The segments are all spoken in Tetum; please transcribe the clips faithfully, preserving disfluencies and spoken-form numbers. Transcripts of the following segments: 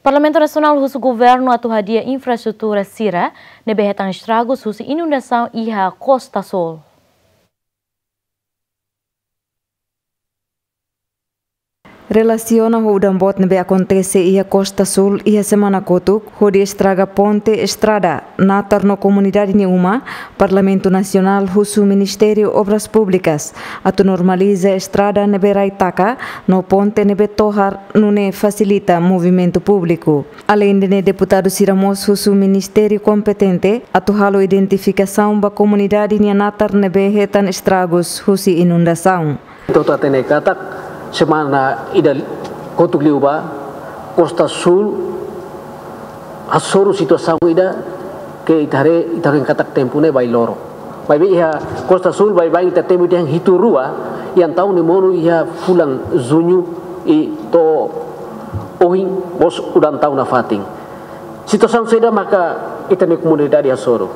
Parlamentu Nasionál husu governu atu hadi'a infraestrutura sira ne'ebé hetan estragus husi inundasaun iha Kosta Súl. Relasiona ho udan boot ne'ebé akontese iha Kosta Súl iha semana kotuk, hodi estraga ponte, estrada, natar no komunidade nia uma, Parlamentu Nasionál husu Ministériu Obras Públikas atu normaliza estrada ne'ebé rai taka no ponte ne'ebé tohar, nune'e fasilita movimentu públiku. Aleinde ne'e, deputadu sira mós husu ministériu kompetente atu halo identifikasaun ba komunidade nia natar ne'ebé hetan estragus husi inundasaun. Ita hatene katak semana ida kotuk liubá, Kosta Súl hasoru situasaun ida ke ita haree, ita haree katak tempu ne'e bailoron. Maibé iha Kosta Súl baibain ita temi dehan hitu rua, iha taun ne'e monu iha fulan Juñu i to'o ohin mós udan tau nafatin. Situasaun saida maka ita-nia komunidade hasoru?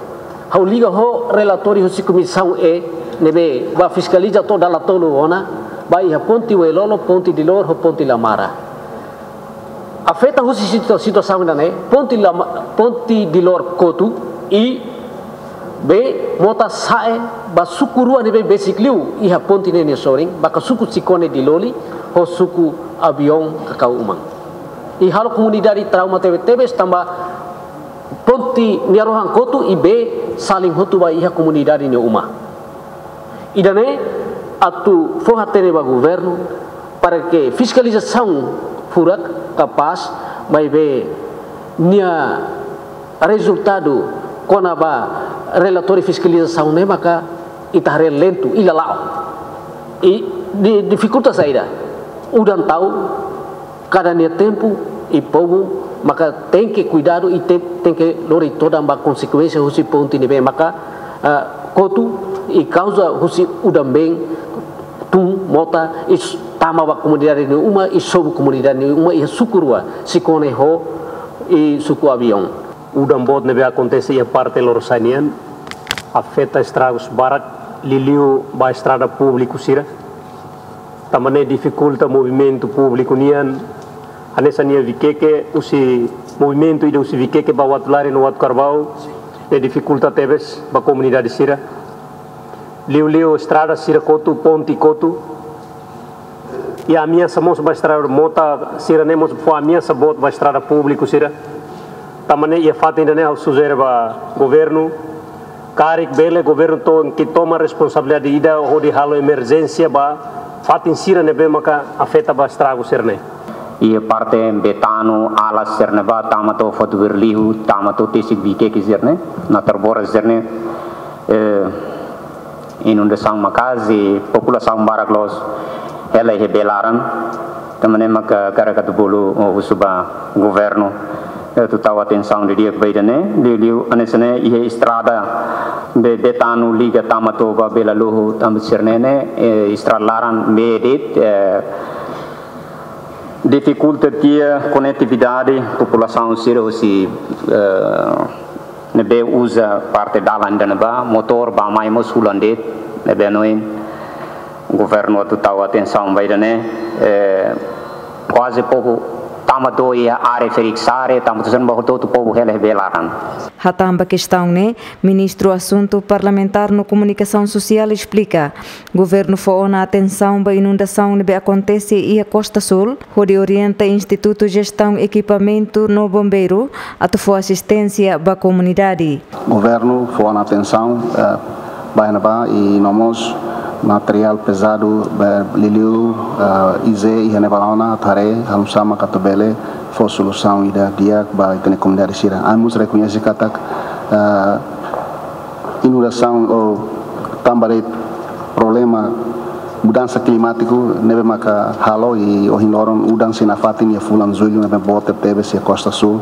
Ha'u liga ho relatóriu husi Komisaun E ne'ebé bá fiskaliza to'o dala tolu ona, ba iha ponte Uelolo, ponte Dilor ho ponte Lamara. Afeta husi situa-, situasaun ida-ne'e, ponte Lama-, ponte Dilor kotu i bee mota sa'e ba suku rua ne'ebé besik liu iha ponte ne'e nia sorin, maka suku Cikone Diloli ho suku Aviaun Kakau Umang. I halo komunidade trauma tebe-tebes tanba ponte nia rohan kotu i bee salin hotu ba iha komunidade nia uma. Ida-ne'e atu fó-hatene ba governu para ke fiskalizasaun furak kapás, maibé nia rezultadu kona-ba relatóriu fiskalizasaun ne'e maka ita haree lentu i lala'ok. I di-, difikulta saida? Udan tau kada nia tempu, i povu maka tenke kuidadu i te-, tenke lori todan ba konsekuénsia husi ponte ne'ebé maka, ah, kotu i kauza husi udan-been tun mota i s-, tama ba komunidade nia uma i sobu komunidade nia uma iha suku rua, Cikone ho i suku Aviaun. Udan boot ne'ebé akontese iha parte Lorosa'e nian afeta estragus barak, liuliu ba estrada públiku sira. Tanba ne'e difikulta movimentu públiku nian, hanesan iha Vikeke, husi movimentu ida husi Vikeke ba Uatulari no Uatucarbau, ne'e difikulta tebes ba komunidade sira. Liuliu estrada sira kotu, ponte kotu. I ameasa mós ba estrada, mota sira-ne'e mós fó ameasa boot ba estrada públiku sira. Tanba ne'e iha fatin ida-ne'e ha'u sujere ba governu, karik bele governu tenke toma responsabilidade ida hodi halo emerjénsia ba fatin sira ne'ebé maka afeta ba estragu sira-ne'e. Iha parte Betano, Alas sira-ne'ebá, tama to'o Fatuberliu, tama to'o tesik Vikeke sira-ne'e, Natar Boras sira-ne'e, eh, inundasaun maka'as i populasaun barak loos hela iha bee laran. Tanba ne'e maka hakarak atu bolu, oh, husu ba governu, eh, atu tau atensaun didi'ak ba ida-ne'e, liuliu hanesan ne'e iha estrada Be-, Betano liga tama to'o ba Bela Loho, tanba sira-ne'e ne'e, eh, estrada laran bee de'it, eh, difikulta tiha konetividade, populasaun sira husi, eh, ne'ebé uza parte dalan ida-ne'ebá, motór bá-mai mós hulan de'it, ne'ebé hanoin governu atu tau atensaun ba ida-ne'e, eh, kuaze povu tama to'o iha área ferik Sare, tama to'o sira-ne'ebá hotu-hotu povu hela iha bee laran. Hatán ba kestaun ne'e, Ministru Asuntu Parlamentár no Komunikasaun Sosiál esplika, governu fó ona atensaun ba inundasaun ne'ebé akontese iha Kosta Súl, hodi orienta Institutu Jestaun Ekipamentu no Bombeiru atu fó asisténsia ba komunidade. Governu fó ona atensaun, eh, ba iha ne'ebá i no mós materiál pezadu, eh, liuliu, eh, I Z iha ne'ebá ona atu haree oinsá maka atu bele fó solusaun ida di'ak ba ita-nia komunidade sira. Ami mós rekoñese katak, eh, inundasaun ou tanba de'it problema mudansa klimátiku ne'ebé maka halo i ohin loron udan sei nafatin iha fulan Jullu ne'ebé boot tebes iha Kosta Súl,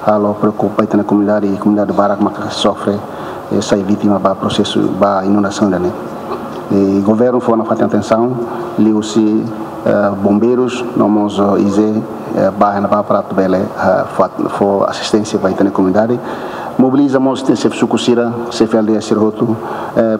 halo preokupa ita-nia komunidade i komunidade barak maka sofre, eh, sai vítima ba prosesu ba inundasaun ida-ne'e. I governu fó nafatin atensaun, liuhusi, eh, bombeirus, no mós, eh, I Z, eh, bá iha ne'ebá para atu bele, eh, fó, fó asisténsia ba ita-nia komunidade. Mobiliza mós ita-nia xefe suku sira, xefe aldeia sira hotu, eh,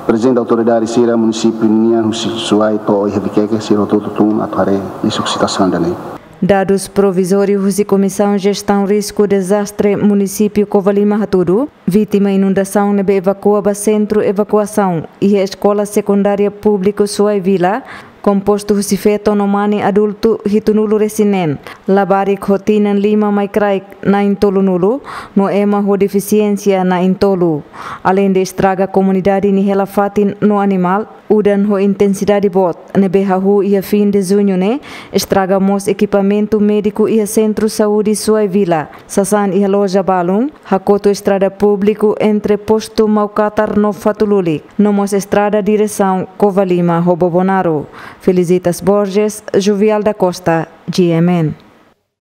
prezidente autoridade sira, munisípiu nian, husi Suai to'o iha Vikeke, sira hotu-hotu tun atu haree husi situasaun ida-ne'e. Dadus provizóriu husi Komisaun Jestaun Risku Dezastre Munisípiu Covalima hatudu, vítima inundasaun ne'ebé evakua ba sentru evakuasaun iha Eskola Sekundária Públiku Suai Vila, kompostu husi feto no mane adultu hitunulu resin neen, labarik ho tinan lima mai kraik na'in tolunulu, no ema ho defisiénsia na'in tolu. Aleinde estraga komunidade nia hela-fatin no animál, udan ho intensidade boot ne'ebé hahú iha fin de juñu ne'e estraga mós ekipamentu médiku iha Sentru Saúde Suai Vila, sasán iha loja balun, hakotu estrada públiku entre postu Maukatar no Fatululik, no mós estrada diresaun Covalima ho Bobonaro. Felicitas Borges, Juvial da Costa, G M N.